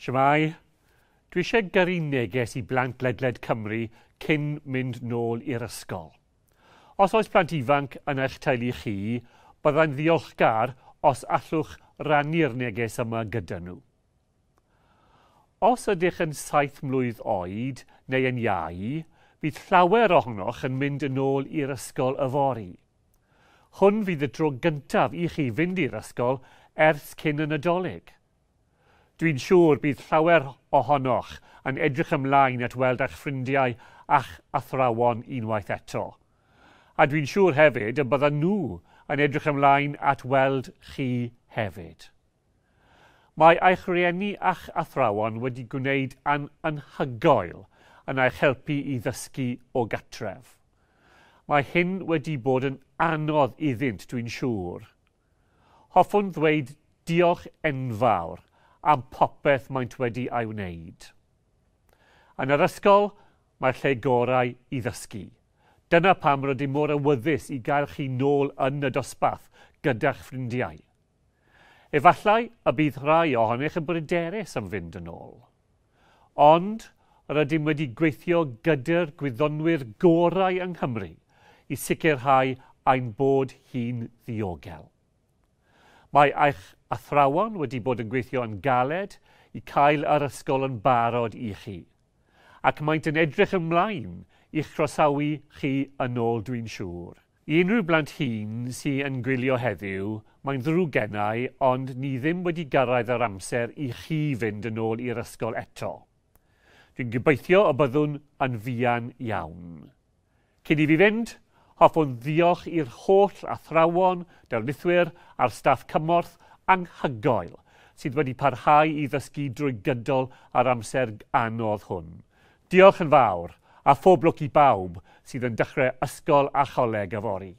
Shwmae? Dwi eisiau gyrru neges i blant ledled Cymru cyn mynd nôl i'r ysgol. Os oes plant ifanc yn eich teulu chi, byddai'n ddiolchgar os allwch rannu'r neges yma gyda nhw. Os ydych yn 7 mlwydd oed neu yn iau, bydd llawer ohonoch yn mynd yn ôl i'r ysgol yfory. Hwn fydd y tro gyntaf i chi fynd i'r ysgol ers cyn y Nadolig. Dwi'n siŵr bydd llawer ohonoch yn edrych ymlaen at weld eich ffrindiau a'ch athrawon unwaith eto. A dwi'n siŵr hefyd y byddan nhw yn edrych ymlaen at weld chi hefyd. Mae eich rhieni a'ch athrawon wedi gwneud an anhygoel yn eich helpu i ddysgu o gartref. Mae hyn wedi bod yn anodd iddynt, dwi'n siŵr. Hoffwn ddweud diolch enfawr am popeth maent wedi ei wneud. Yn yr ysgol, mae'r lle gorau i ddysgu. Dyna pam rydym mor awyddus i gael chi nôl yn y dosbarth gyda'ch ffrindiau. Efallai y bydd rhai ohonych yn bryderus am fynd yn ôl. Ond rydym wedi gweithio gyda'r gwyddonwyr gorau yng Nghymru i sicrhau ein bod hi'n ddiogel. Mae eich athrawon wedi bod yn gweithio yn galed i cael yr ysgol yn barod i chi, ac maent yn edrych ymlaen i'ch croesawu chi yn ôl, dwi'n siŵr. I unrhyw blant hŷn sy'n yn gwylio heddiw, mae'n ddrwg gennau, ond ni ddim wedi gyrraedd yr amser i chi fynd yn ôl i'r ysgol eto. Dwi'n gobeithio y byddwn yn fuan iawn. Cyn i fi fynd, hoffwn ddiolch i'r holl athrawon, darlithwyr a'r staff cymorth anhygoel sydd wedi parhau i ddysgu drwy gydol yr amser anodd hwn. Diolch yn fawr, a phob lwc i bawb sydd yn dechrau ysgol a choleg yfory.